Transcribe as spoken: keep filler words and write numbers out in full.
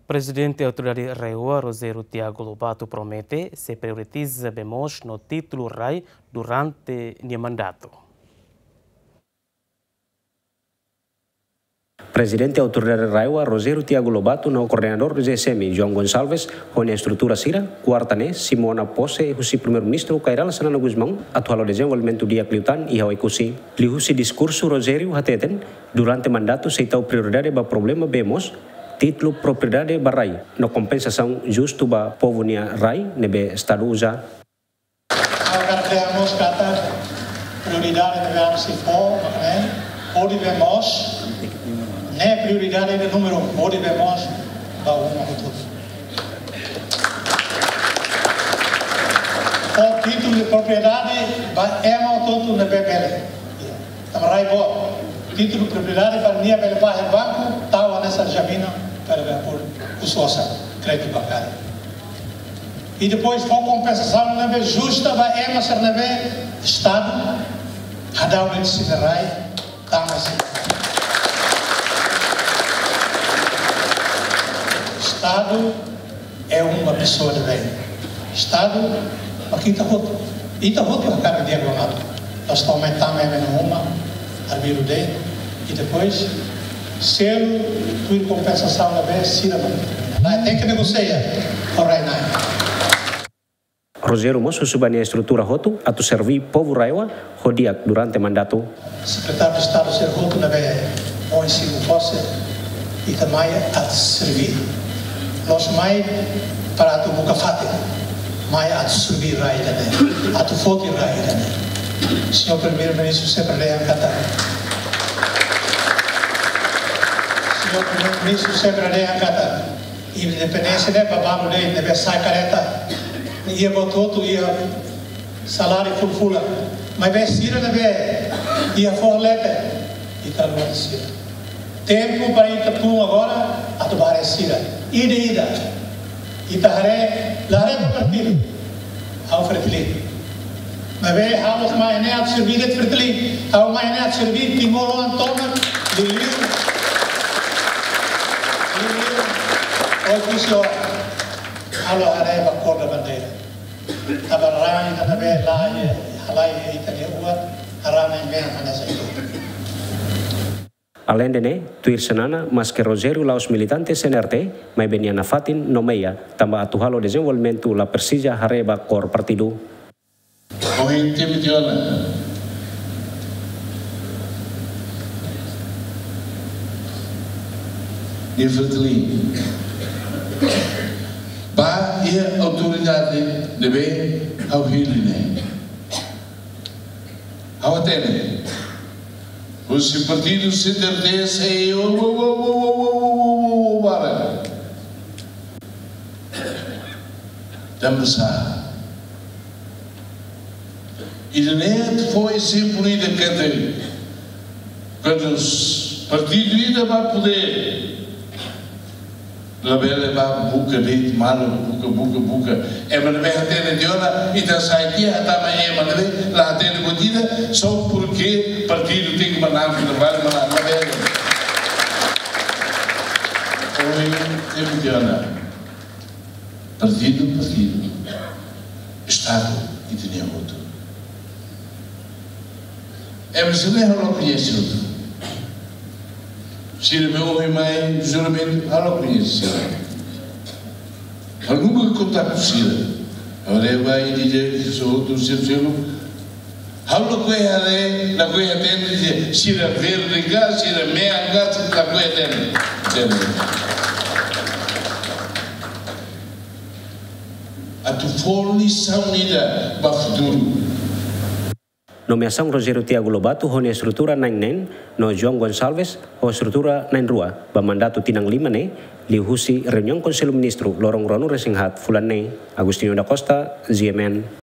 Prezidente Autoridade RAEOA, Rogério Tiago Lobato, promete sei prioritiza bee moos no títulu rai durante nia mandatu. Prezidente Autoridade RAEOA, Rogério Tiago Lobato, no Koordenadór G S M, João Gonçalves, ho nia estrutura sira, kuarta ne'e, simu ona pose husi Primeiru-Ministru Kay Rala Xanana Gusmão, atu halo dezenvolvimentu di'ak liután iha Oekusi. Liuhusi diskursu, Rogério hateten, durante mandatu sei tau prioridade ba problema bee moos, títulu propriedade ba rai, no kompensasaun justu ba povu nia rai ne'ebé Estadu uza. Ha'u hakarak dehan mós katak prioridade ne'ebé ami sei fó, ne'e, hodi bee moos, ne'e prioridade ida númeru um, hodi bee moos ba uma hotu-hotu. Fó títulu de propriedade ba ema hotu-hotu ne'ebé bele. Tanba rai boot, títulu propriedade para nia bele fahe banku, tau hanesan jaminan para bele por husu osan, kréditu bankáriu. I depois fó kompensasaun ne'ebé justa ba ema sira ne'ebé Estadu hadau de'it sira-nia rai, tama sira. Estadu é uma pessoa de bem. Estadu, mak ita hotu. Ita hotu hakarak di'ak ba malu. Loos to'o mai tama ema nia uma, arbiru de'it, i depois selu tuir kompensasaun ne'ebé sira mak. Rai tenke negosia ho rai-na'in. Rogério mós husu ba nia estrutura hotu atu serví povu RAEOA ho di'ak durante mandatu. Sekretáriu de Estadu sira hotu ne'ebé ohin simu pose, ita mai atu serví. La'ós mai para atu buka fatin, mai atu serví rai ida-ne'e, atu foti rai ida-ne'e. Señór Primeiru-Ministru sempre dehan katak, Señór Primeiru-Ministru sempre dehan katak, independénsia ne'e ba balu de'it, ne'ebé sa'e karreta, iha buat hotu, iha saláriu fulan-fulan. Maibé sira ne'ebé iha foho leten, ita haluha sira. Tempu para ita tun agora atu ba haree sira. Ida-ida. Ita haree, la haree ba partidu. Ha'u Fretilin. Maibé ha'u la'ós mai ne'e atu serví de'it Fretilin. Ha'u mai ne'e atu serví timoroan tomak, liuliu, liuliu Oekusi oan. Ha'u la haree ba kór da bandeira. Tanba rai ida ne'ebé la iha, halai iha ita-nia oan, rai ne'e mean hanesan ida-ne'e. Aleinde ne'e, tuir Xanana, maske Rogério la'ós militante C N R T, maibé nia nafatin nomeia, tanba atu halo dezenvolvimentu la presiza haree ba kór partidu. Ohin temi tiha ona nia Fretilin. Ba iha autoridade ne'ebé ha'u hili ne'e. Ha'u hatene. Husi partidu C N R T sei o, o, o, bara. Tanba sá. Ida-ne'e fó ezemplu ida katak, kuandu partidu ida ba podér, labele ba buka de'it malu, buka, buka, buka. Ema ne'ebé hatene tiha ona, ita sai tiha, hatama ema ne'ebé la hatene buat ida, só porque partidu tenke manán, labele manán, labele. Ohin temi tiha ona. Partidu, partidu. Estadu, ita-nia hotu. Ema sira ne'e ha'u la koñese hotu. Sira ne'ebé ohin mai juramentu, ha'u la koñese sira. Ha'u nunka kontaktu sira. Ha'u leba i dije, sira hotu, sira seluk. Ha'u lakohi haree, lakohi hatene, sira verde ka, sira mean ka, sira lakohi hatene. Hatene. Atu fó lisaun ida ba futuru. Nomeasaun Rogério Tiago Lobato ho nia estrutura na'in neen, no João Gonçalves ho estrutura na'in rua, ba mandatu tinan lima ne'e, liuhusi reuniaun Konsellu Ministru loron ruanulu-resin-haat fulan ne'e. Agostinho da Costa, G M N.